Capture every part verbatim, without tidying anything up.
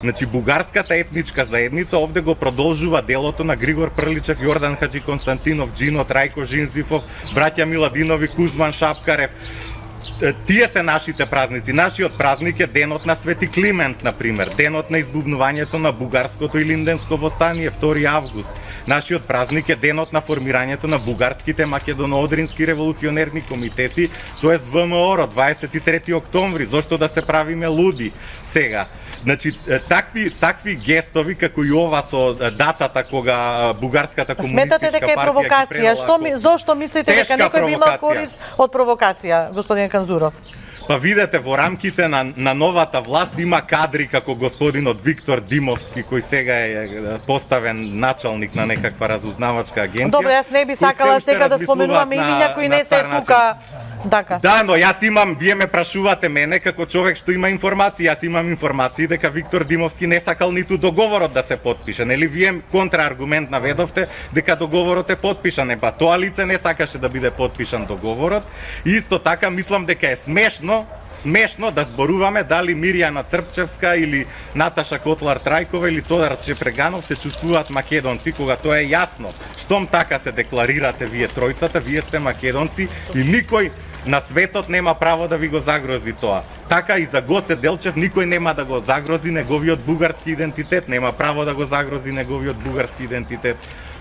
Значи, бугарската етничка заедница овде го продолжува делото на Григор Прличев, Јордан Хаджи Константинов, Джино, Трајко Жинзифов, браќа Миладинови, Кузман Шапкарев. Тие се нашите празници. Нашиот празник е денот на Свети Климент, например, денот на избувнувањето на бугарското илинденско востание, втори август. Нашиот празник е денот на формирањето на бугарските македоно-одрински револуционерни комитети, тоест В М О Р, дваесет и трети октомври. Зошто да се правиме луди сега? Значи, такви, такви гестови, како и ова со датата кога бугарската комунистичка партија... Сметате дека е провокација? Што, зошто мислите дека некој би имал корист од провокација, господин Канзуров? Па видете, во рамките на, на новата власт има кадри како господинот Виктор Димовски, кој сега е поставен началник на некаква разузнавачка агенција. Добро, јас не би сакала сега да споменуваме имиња кои не се тука. Дака. Да, но јас имам, вие ме прашувате мене како човек што има информации, јас имам информации дека Виктор Димовски не сакал ниту договорот да се потпише, нели вие контрааргумент наведовте дека договорот е потпишан, па тоа лице не сакаше да биде потпишан договорот. И исто така мислам дека е смешно смешно да зборуваме дали Мирјана Трпчевска или Наташа Котлар Трајкова или Тодор Чепреганов се чувствуваат македонци, кога тоа е јасно. Штом така се декларирате вие тројцата, вие сте македонци и никој на светот нема право да ви го загрози тоа. Така и за Гоце Делчев никој нема да го загрози неговиот бугарски идентитет, нема право да го загрози неговиот бугарски идентитет.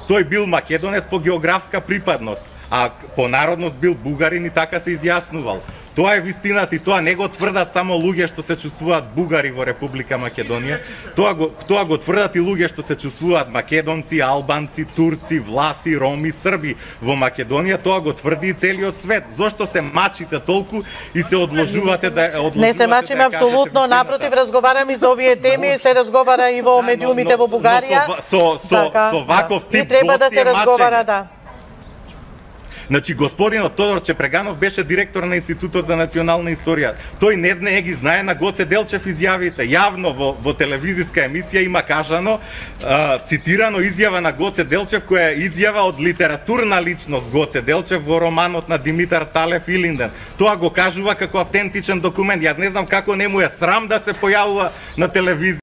Тој бил македонец по географска припадност, а по народност бил бугарин и така се изјаснувал. Тоа е вистината и тоа не го тврдат само луѓе што се чувствуваат бугари во Република Македонија, тоа го, тоа го тврдат и луѓе што се чувствуваат македонци, албанци, турци, власи, роми, срби во Македонија, тоа го тврди и целиот свет. Зошто се мачите толку и се одложувате да одложувате? Не се мачиме да апсолутно, напротив, разговараме за овие теми, се разговара и во медиумите во Бугарија. Со со така, со ваков да. тип и треба да се разговара, да. Значи, господинот Тодор Чепреганов беше директор на Институтот за национална историја. Тој не знае, ги знае на Гоце Делчев изјавите. Јавно во, во телевизиска емисија има кажано, а, цитирано изјава на Гоце Делчев, која е изјава од литературна личност Гоце Делчев во романот на Димитар Талев Илинден. Тоа го кажува како автентичен документ. Јас не знам како не му е срам да се појавува на телевизија.